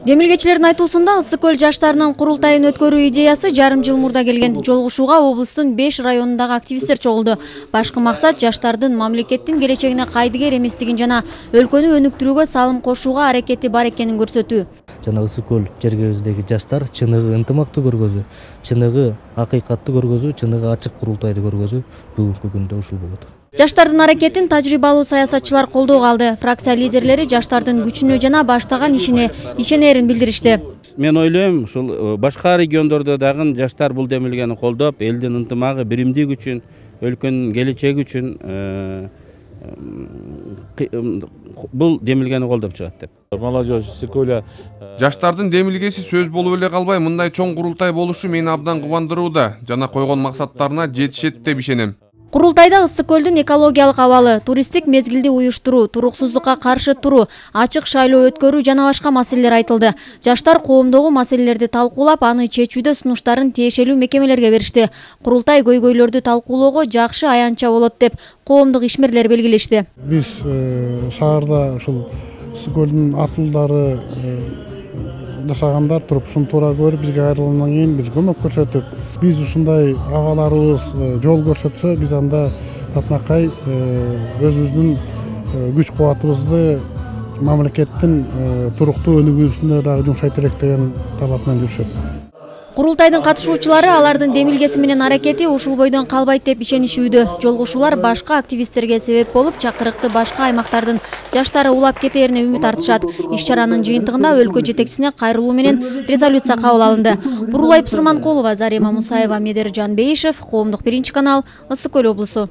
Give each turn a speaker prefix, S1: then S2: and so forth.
S1: Демилгечилердин айтуусунда Ысык көл жаштарынын курултайын өткөрүү идеясы жарым жыл мурда келген. Жолугушууга облустун 5 районундагы активисттер чогулду. Башкы максат жаштардын мамлекеттин келечегине кайдыгер эместигин жана өлкөнү өнүктүрүүгө салым кошууга аракети бар экенин көрсөтүү.
S2: Жана Ысык көл жергебиздеги жаштар чыныгы ынтымакты көргөзүү, чыныгы акыйкатты көргөзүү, чыныгы ачык курултайды көргөзүү бүгүнкү күндө ушул болот.
S1: Жаштардын аракетин тажрыйбалуу саясатчылар колдоого алды. Фракция лидерлери жаштардын күчүнө жана баштаган ишине ишенерин билдиришти.
S3: Мен ойлойм, ушул башка региондордо дагы жаштар бул демилгени колдоп, элдин ынтымагы, биримдиги үчүн, өлкөнүн келечеги үчүн бул демилгени колдоп чыгат деп.
S4: Молодежь Ысык көлү
S5: жаштардын демилгеси сөз болуп эле калбай, мындай чоң курултай болушу мени абдан кубандырууда. Жана койгон максаттарына жетишет деп ишенем.
S1: Курултайда Ысык көлдүн экологиялык абалы, туристтик мезгилди уюштуруу, туруксуздукка каршы туруу, ачык шайлоо өткөрүү жана башка маселелер айтылды. Жаштар коомдогу маселелерди талкуулап, аны чечүүдө сунуштарын тиешелүү мекемелерге беришти. Курултай көйгөйлөрдү талкуулоого жакшы аянтча болот деп коомдук ишмерлер белгилешти.
S6: Биз шаарда ушул Ысык көлдүн атуулдары жашагандар туруп ушуну туура көрүп, бизге айрылгандан кийин биз көмөк көрсөтүп, биз ушундай агаларыбыз жол көрсөтсө, биз анда татынакай өзүбүздүн күч кубатыбызды мамлекеттин туруктуу өнүгүүсүнө дагы жумшайт элек деген талап менен жүрүшөт.
S1: Курултайдын катышуучулары алардын демилгеси менен аракети ушул бойдон калбайт деп ишенишүүдө. Жолугушуулар башка активисттерге себеп болуп, чакырыкты башка аймактардын жаштары улап кетерине үмүт артышат. Иш-чаранын жыйынтыгында өлкө жетекчисине кайрылуу менен резолюция кабыл алынды. Бурулай Псурманкулова, Зарема Мусаева, Медер Жанбейишев, Коомдук биринчи канал, Ысык көл облусу.